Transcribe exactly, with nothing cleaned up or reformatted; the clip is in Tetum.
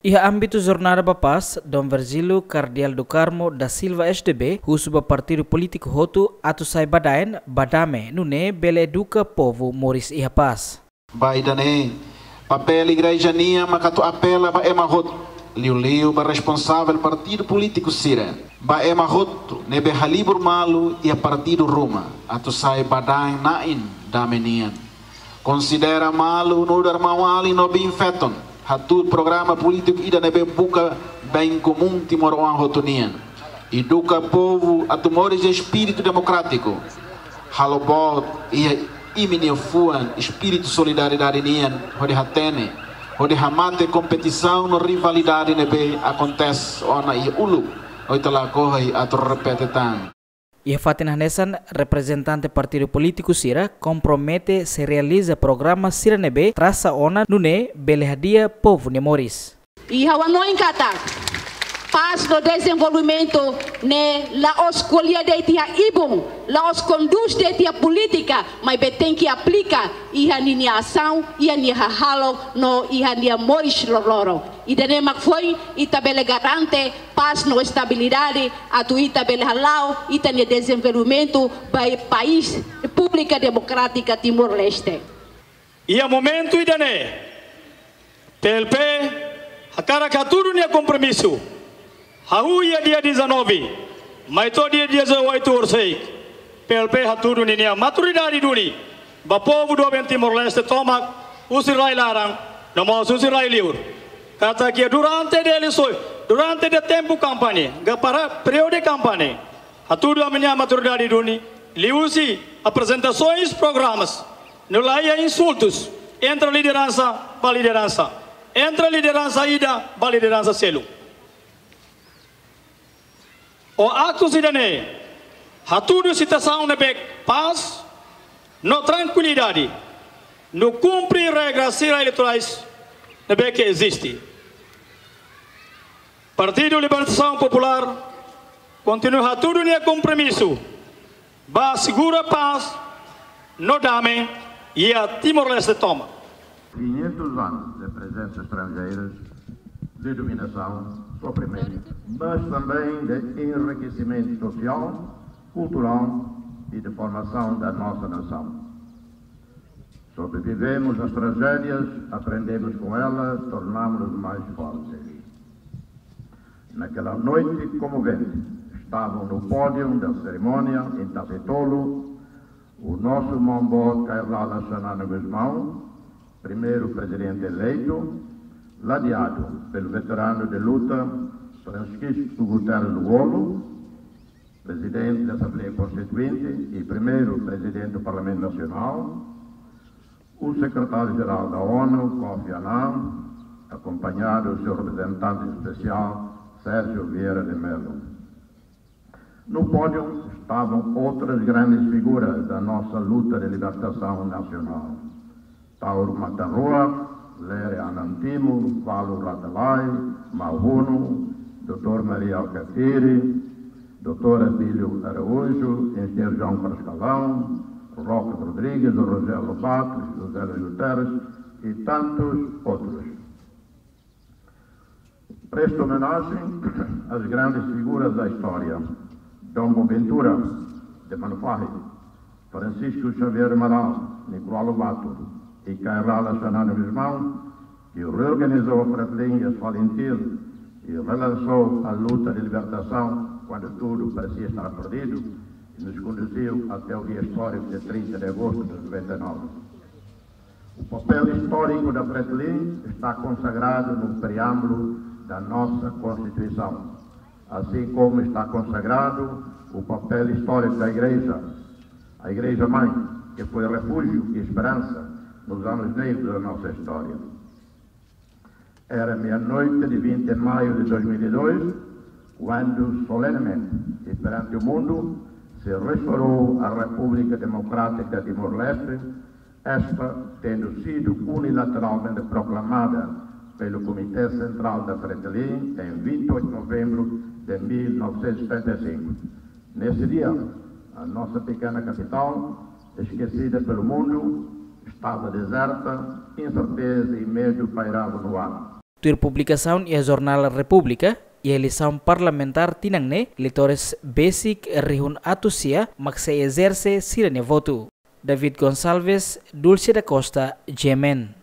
Iha ámbitu Jornada ba Pás, Dom Virgílio Cardeal do Carmo da Silva, S D B, husu ba partidu polítiku hotu atu sai badaen ba dame, nune'e bele eduka povu moris iha pás. Ba ida-ne'e, papél igreja nian maka atu apela ba ema hotu, liuliu ba responsavel partidu polítiku sira, ba ema hotu ne'ebé halibur malu iha partidu ruma, atu sai badaen-na'in dame nian. Konsidera malu nu'udar maun-alin no biin-feton, hatuur programa polítiku ida ne'ebé buka bem komún timoroan hotu nian. Eduka povu atu moris iha espíritu demokrátiku. Halo boot iha imi-nia fuan espíritu solidariedade nian, hodi hatene, hodi hamate kompetisaun no rivalidade ne'ebé akontese ona iha uluk, no ita lakohi atu repete tan. Iha fatin hanesan, reprezentante partidu polítiku sira kompromete sei realiza programa sira ne'ebé trasa ona, nune'e bele hadi'a povu nia moris. I ha'u hanoin katak pás no dezenvolvimentu ne'e la'ós ko'alia de'it iha ibun, la'ós kondús de'it iha polítika, maibé tenke aplika iha ninia asaun, iha nia hahalok no iha nia moris loroloron. Ida-ne'e mak foin ita bele garante pás no estabilidade, atu ita bele hala'o ita-nia dezenvolvimentu ba país Repúblika Demokrátika Timor-Leste. Iha momentu ida-ne'e, P L P hakarak hatudu nia kompromisu. Hahú iha dia dezanove, mai to'o dia dezoito horisehik, P L P hatudu ninia maturidade duni ba povu doben Timor-Leste tomak, husi rai-laran no mós husi rai-li'ur. Katak iha durante de eleisoens, durante de tempu kampaña, ka para períodu de kampaña, hatudu ami-nia maturidade duni liuhusi aprezentasoens, programas, no la iha insultus entre lideransa ba lideransa, entre lideransa ida ba lideransa seluk. Ho aktus ida-ne'e, hatudu situasaun ne'ebé pás no trankuilidade, no kumpre regras sira eleitorais ne'ebé ke eziste. Partidu Libertasaun Populár kontinua hatudu nia kompromisu ba asegura pás no dame iha Timor-Leste tomak. Quinhentos anos de presença estrangeira, de dominação, sofrimento, mas também de enriquecimento social, cultural e de formação da nossa nação. Sobrevivemos às tragédias, aprendemos com elas, tornamos-nos mais fortes. Naquela noite comovente, estavam no pódio da cerimónia, em Tafetolo, o nosso maun-boot Kay Rala Xanana Gusmão, primeiro presidente eleito, ladeado pelo veterano de luta Francisco Guterres Lú-Olo, presidente da Assembleia Constituinte e primeiro presidente do Parlamento Nacional, o secretário-geral da ONU, Kofi Annan, acompanhado do seu representante especial, Sérgio Vieira de Mello. No pódio estavam outras grandes figuras da nossa luta de libertação nacional. Taur Matan Ruak, Lere Anan Timur, Valu Ratabai, Maun Hunu, doutor Mari Alkatiri, doutor Abílio Araújo, engenheiro João Carrascalão, Roque Rodrigues, Rogério Lobato, José Luís Guterres e tantos outros. Presto homenagem às grandes figuras da história: Dom Boaventura de Manufahi, Francisco Xavier Amaral, Nicolau Lobato e Kay Rala Xanana Gusmão, que reorganizou a Fretilin e as FALINTIL e relançou a luta de libertação quando tudo parecia estar perdido e nos conduziu até o dia histórico de trinta de agosto de noventa e nove. O papel histórico da Fretilin está consagrado no preâmbulo da nossa Constituição, assim como está consagrado o papel histórico da Igreja, a Igreja Mãe, que foi refúgio e esperança nos anos negros da nossa história. Era meia-noite de vinte de maio de dois mil e dois, quando solenemente e perante o mundo se restaurou a República Democrática de Timor-Leste, esta tendo sido unilateralmente proclamada pelo Comité Central da Fretilin em vinte e oito de novembro de mil novecentos e setenta e cinco. Nesse dia, a nossa pequena capital, esquecida pelo mundo, estava deserta, incerteza e medo pairavam no ar. Tuir publikasaun iha jornál República, iha eleisaun parlamentár tinan ne'e, eleitores besik rihun atus sia mak sei ezerse sira-nia votu. David Gonçalves, Dulce da Costa, G M N.